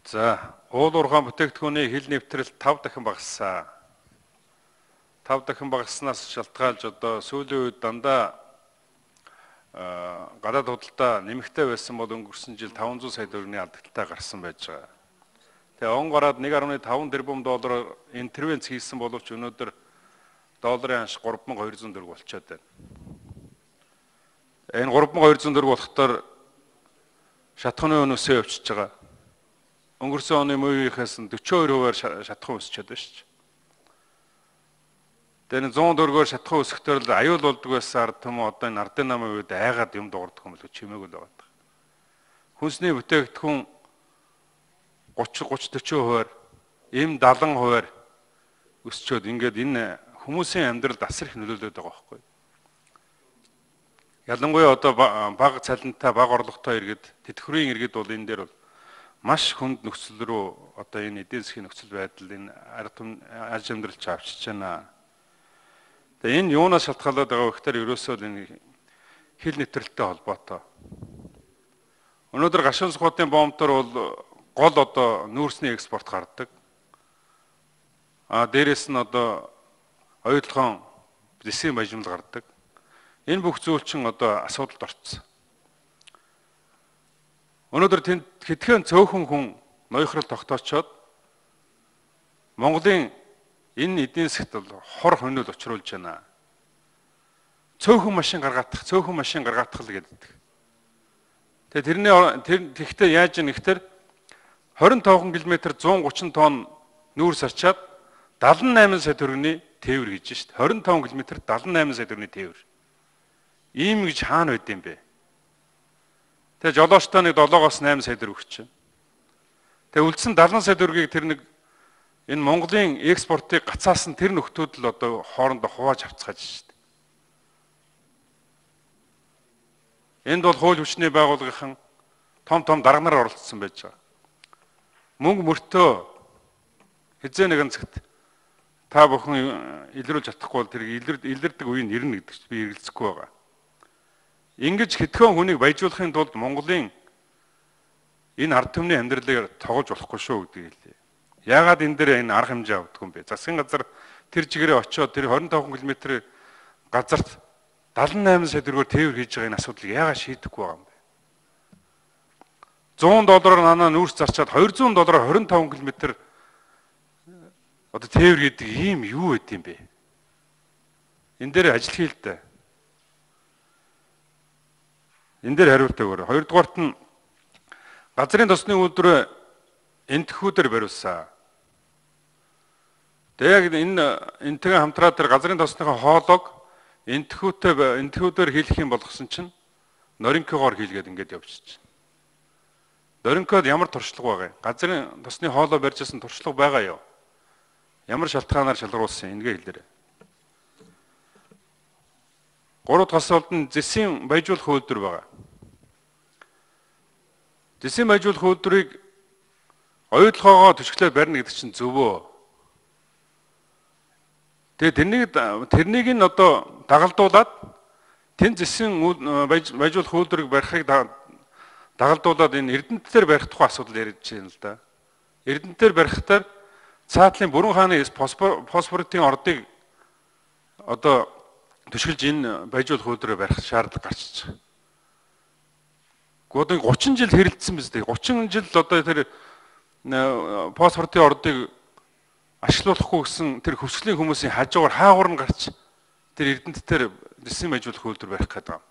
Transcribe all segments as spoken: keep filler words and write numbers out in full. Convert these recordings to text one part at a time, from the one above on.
За, уул уурхайн бүтээгдэхүүний хил нэвтрэл тав дахин багассан. тав дахин багасснаас шалтгаалж одоо сүүлийн үед дандаа гадаад худалдаа нэмэгтэй байсан бол өнгөрсөн жил таван зуун сая төгрөгийн алдагталтай гарсан байж байгаа. Тэгээ он гараад нэг нугас таван тэрбум доллараар интервенц хийсэн боловч өнөөдөр долларын ханш гурван мянган хоёр зуун төгрөг болчиход байна. Энэ гурван мянган хоёр зуун төгрөг болохдоор шатхууны өнөөсөө өвчөж байгаа. Өнгөрсөн оны мууийнхаас нь дөрвөн хувиар шатхуун өсчихэд байна шүү дээ. Тэр зуун төгрөгөөр шатхуун өсөхдөө л аюул болдог байсан ард түмэн одоо энэ ардын намын үед айгаад юм дуурдах юм л чимээгүй л байгаа. Хүнсний бүтээгдэхүүн гучин гучин дөрвөн хувиар, эм дадлан хувиар өсчөөд ингээд энэ хүмүүсийн амьдралд асар их нөлөөлөд байгаа байхгүй. Ялангуяа одоо бага цалинтай, бага орлоготой иргэд, тэтгэврийн иргэд бол энэ дээр бол маш хүнд нөхцөл рүү одоо энэ эдийн засгийн нөхцөл байдал энэ ард түмэн аж амьдралч авчиж байна. Тэгээ энэ юунаас шалтгаалаад байгаа вэ гэхээр ерөөсөө энэ хил нэвтрэлтэй холбоотой. Өнөөдөр гашуун сухатын бомбтор бол гол одоо нүүрсний экспорт гардаг. А дээрэс нь одоо оюутлогын дэсийн бажимл гардаг. Энэ бүх зүйл чинь одоо асуудалд орцсон. Өнөөдөр тэнд хэдхэн цөөхөн хүн ноёхрол тогтоочоод Монголын энэ эдийн засгт бол хор хөнөөл учруулж байна. Цөөхөн машин гаргаадах, цөөхөн машин гаргаадах л гэдэг. Тэгээ тэрний тэр тэгтээ яаж юм гэхээр двадцать пять км зуун гучин тонн нүүрс арчаад дадлан найман сая төгрөгийн тээвэр хийж шít. двадцать пять км дадлан найман сая төгрөгийн тээвэр. Ийм гэж хаана байд юм бэ? Тэгээ жолоочтой нэг долоогоос найман сая төгрөг өгч чинь. Тэгээ үлдсэн дадлан сая төгрөгийг тэр нэг энэ Монголын экспортыг гацаасан тэр нөхдүүд л одоо хоорондоо хувааж авцгааж шít. Энд бол хууль хүчний байгууллагын том том дарга нар оролцсон байж байгаа. Мөнгө мөртөө хизээ нэгэн цагт та бүхэн илрүүлж чадахгүй бол тэр илэрдэг үеийг ирнэ гэдэг би эргэлзэхгүй байгаа. Ингэж хэдхэн хүнийг баяжуулахын тулд Монголын энэ ард түмний амьдралыг тоглож болохгүй шүү гэдгийг хэлээ. Яагаад энэ дээр энэ арга хэмжээ авдаг юм бэ? Засгийн газар тэр чигээрээ очиод тэр двадцать пять км газарт дадлан найман сая төгрөгөөр тээвэр хийж байгаа энэ асуудлыг яагаад шийдэхгүй байгаа юм бэ? сто доллараар нанаа нүүрс зарчаад двести доллараар двадцать пять км одоо тээвэр гэдэг ийм юу байд юм бэ? Энэ дээр ажил хийл дээ. Энэ дээр хариулт өгөөрэй. Хоёрдугаарт нь газрын тосны үйлдвэр энтхүүдээр бариулсан. Тэгээд энэ энтэйгээ хамтраад тэр газрын тосныхоо хоолойг энтхүүтэй энтхүүдээр хийх юм болгосон чинь норинкогоор хийлгээд ингээд явчихчих. Норинкод ямар туршлага байгаа юм? Газрын тосны хоолой барьжсэн туршлага байгаа юу? Ямар шалтгаанаар шалгаруулсан энэгээ хэлээрэй. Гурав дахь асуулт нь зэсийн баяжуулах үйлдвэр байгаа. Зэсийн баяжуулах үйлдвэрийг оюутлогоогоо төшөглөө барьна гэдэг чинь зөвөө. Тэгээ тэрнийг тэрнийг нь одоо дагалдуулаад тэн зэсийн баяжуулах үйлдвэрийг барихыг дагалдуулаад энэ Эрдэнэтээр барих тухай асуудал ярьж байна л да. Эрдэнэтээр барихтаар цаатлын бүрэн хааны фосфоритын ордыг одоо төшгөлж энэ баяжуулах үйлдвэрээр барих шаардлага гарч байгаа. Гэхдээ гучин жил хэрэлдсэн биз дээ. гучин жил одоо тэр фосфоритын ордыг ашиглуулахгүй гэсэн тэр хөвсглийн хүмүүсийн хажуугаар хаагур нь гарч тэр Эрдэнэтээр зэсийн баяжуулах үйлдвэр барих гэдэг юм.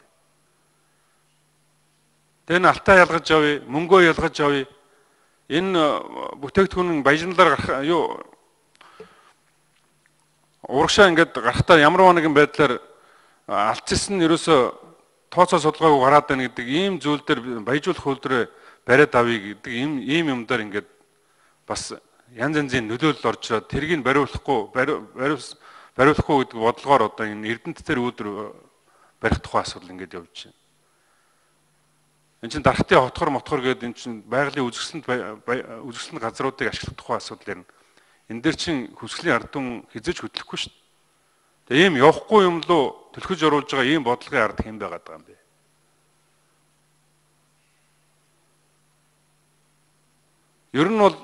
Тэр нь алтаа ялгаж авъя, мөнгөө ялгаж авъя. Энэ бүтээгдэхүүн баяжналаар гарах юу урагшаа ингээд гарахтаа ямар нэгэн байдлаар алдчихсан нь ерөөсө тооцоо судалгаагүй гараад байна гэдэг ийм зүйл дээр баяжуулах үйлдвэрээ бариад авъя гэдэг ийм ийм юм дээр ингээд бас янз янзын нөлөөлөл орж ирээд тэргийг бариулахгүй бариулахгүй гэдэг бодлогоор одоо энэ Эрдэнэтээр үйлдвэр барих тухай асуудал ингээд явж байна. Энд чинь дархтын хотгор мотгор гэдэг энэ чинь байгалийн үзэсгэлэнт үзэсгэлэнт газруудыг ашиглах тухай асуудал ярина. Энэ дээр чинь хөвсглийн ард түмэн хизэж хөдлөхгүй шүү дээ. Тэгээ ийм явахгүй юм лу төлөхөж оруулж байгаа ийм бодлогын ард хэм байгаад байгаа юм бэ? Ер нь бол